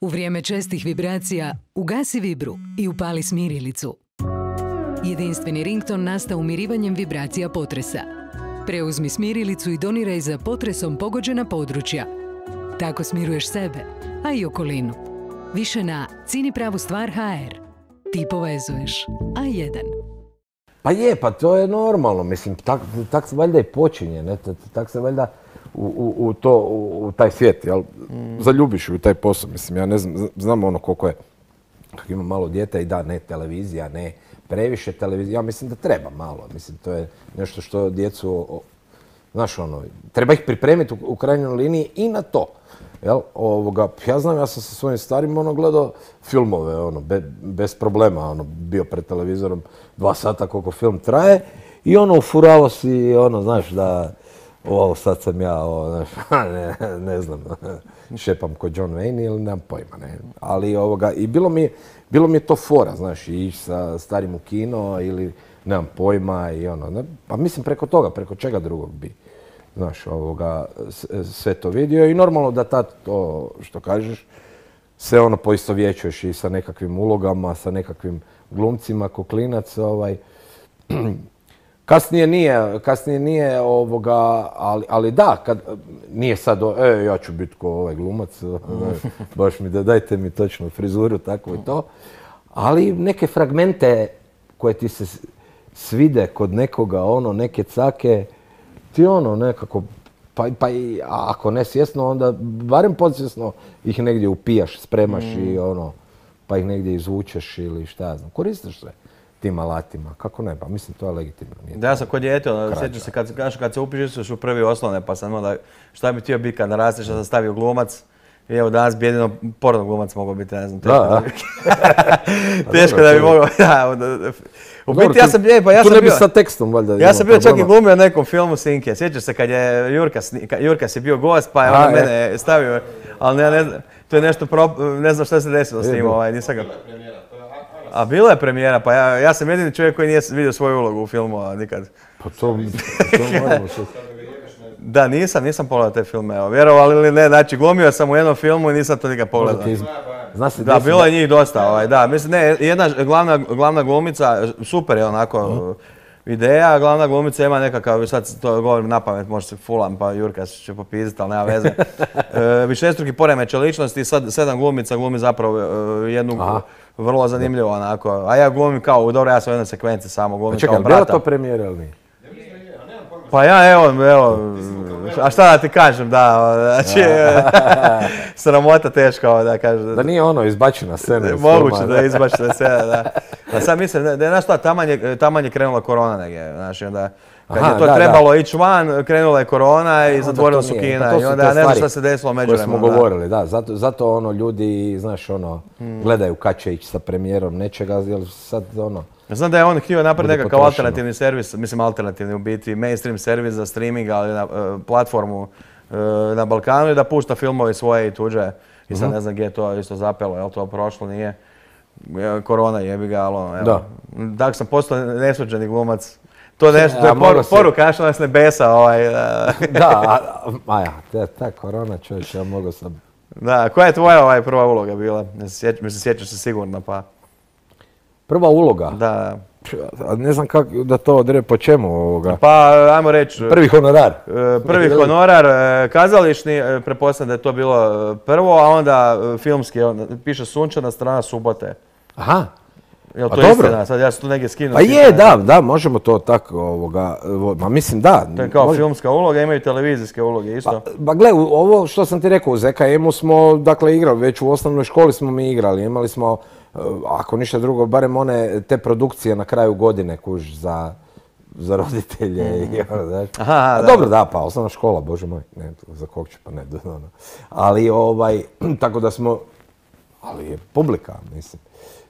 U vrijeme čestih vibracija ugasi vibru i upali smirilicu. Jedinstveni rington nastao umirivanjem vibracija potresa. Preuzmi smirilicu i doniraj za potresom pogođena područja. Tako smiruješ sebe, a i okolinu. Više na cinipravustvar.hr. Ti povezuješ. A1. Pa je, pa to je normalno, mislim, tak se valjda i počinje, ne? Tak se valjda u taj svijet, jel? Zaljubiš u taj posao, mislim, ja ne znam ono koliko je, kako ima malo dijete i da, ne televizija, ne previše televizija, ja mislim da treba malo, mislim, to je nešto što djecu, znaš ono, treba ih pripremiti u krajnjoj liniji i na to. Jel, ja znam, ja sam sa svojim starim gledao filmove, bez problema, bio pred televizorom 2 sata koliko film traje i ufurao si, znaš, da, sad sam ja, znaš, ne znam, šepam ko John Wayne ili nemam pojma, ne, ali i bilo mi je to fora, znaš, ići sa starim u kino ili nemam pojma i pa mislim preko toga, preko čega drugog bi. Znaš, sve to vidio i normalno da tad to što kažeš se poistovjećuješ i sa nekakvim ulogama, sa nekakvim glumcima, ko klinac, Kasnije nije, ali da, kad nije sad, ja ću biti ko ovaj glumac, baš mi dajte mi točno frizuru, tako i to, ali neke fragmente koje ti se svide kod nekoga, neke cake, ti nekako, pa i ako ne svjesno, onda barem podsvjesno ih negdje upijaš, spremaš i pa ih negdje izvučeš ili šta ja znam. Koristiš se tim alatima, kako ne, pa mislim to je legitimno. Da, ja sam kod dijete, sjećam se kad se upišeš u prvi osnovne, pa sam šta bi htio biti kad narasteš, da sam stavio glumac. I evo danas bi jedino porno glumac mogao biti, ne znam, teško da bi mogao, u biti ja sam tu ne bi sa tekstom valjda. Ja sam bio čak i glumio u nekom filmu Sinke, sjećaš se kad je Jurkas je bio gost pa je on mene stavio, ali to je nešto, ne znam šta se desilo s tim, nisam ga... A bila je premijera, pa ja sam jedini čovjek koji nije vidio svoju ulogu u filmu, nikad. Pa to moramo što... Da, nisam pogledao te filme, vjerovali ili ne, znači glumio sam u jednom filmu i nisam to nikad pogledao. Da, bilo je njih dosta, da, mislim, ne, jedna glavna glumica, super je onako ideja, glavna glumica ima nekakav, sad to govorim napamet, možda se fulam, pa Jurka će popiziti, ali nema veze. Višestruki poremećaj ličnosti i sad 7 glumica glumi zapravo jednu vrlo zanimljivu onako, a ja glumim kao, dobro, ja sam u jednoj sekvenci samo glumim kao brata. Čekaj, bilo to premijera ili nije? Pa ja, evo, a šta da ti kažem, da, znači, sramota teško, da kažem. Da nije izbačena scena. Moguće da je izbačena scena, da. A sad mislim da je, znaš šta, taman je krenula korona negdje, znači, onda, kad je to trebalo ići van, krenula je korona i zatvorila su kina i onda ja ne znam šta se desilo međuvremenu. Koje smo govorili, da, zato ljudi, znaš, gledaju kad će ići sa premijerom nečega, jer sad, Znam da je on htio napraviti nekakav alternativni servis, mislim alternativni u biti, mainstream servis za streaming, ali na platformu na Balkanu i da pušta filmove svoje i tuđe. I sad ne znam gdje je to isto zapelo, je li to prošlo, nije. Korona jebi ga, ali evo. Tako sam postao nesuđeni glumac. To je poruka što nas ne besa. Da, ta korona čovječ, ja mogu sam... Da, koja je tvoja prva uloga bila? Mislim, sjećaš se sigurno, pa... Prva uloga? Da. Ne znam kako da to odre po čemu. Pa, ajmo reći... Prvi honorar. Prvi honorar, kazališni, pretpostavljam da je to bilo prvo, a onda filmski, piše Sunčana strana subote. Aha. Jel to istina? Sad ja sam tu negdje skinuo. Pa je, da, možemo to tako, ma mislim da. To je kao filmska uloga, imaju televizijske uloge isto. Pa gle, ovo što sam ti rekao, u ZKM-u smo, dakle, igrali, već u osnovnoj školi smo mi igrali, imali smo, ako ništa drugo, barem one te produkcije na kraju godine, kuž, za roditelje i znaš. Dobro, da, pa osnovna škola, bože moj, ne, za kog ću, pa ne, ali tako da smo, ali je publika, mislim.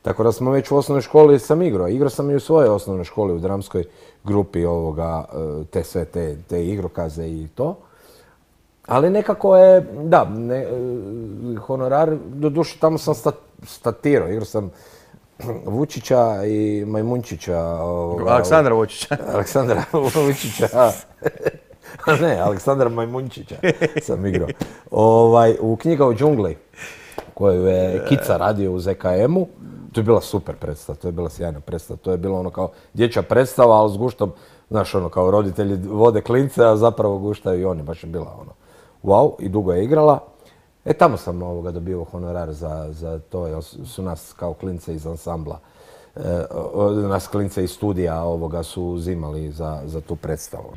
Tako da smo već u osnovnoj školi sam igrao. Igrao sam i u svojoj osnovnoj školi, u dramskoj grupi te sve te igrokaze i to. Ali nekako je, da, honorar, doduše tamo sam statirao. Igrao sam Vučića i Majmunčića. Aleksandra Vučića. Aleksandra Vučića. Ne, Aleksandra Majmunčića sam igrao. U Knjiga u džungli. koju je Kica radio u ZKM-u. To je bila super predstava, to je bila sjajna predstava. To je bilo ono kao dječja predstava, ali s guštom, znaš, ono kao roditelji vode klince, a zapravo guštaju i oni. Baš je bila ono wow, i dugo je igrala. Tamo sam dobio honorar za to, jer su nas kao klince iz ansambla, nas klince iz studija su uzimali za tu predstavu.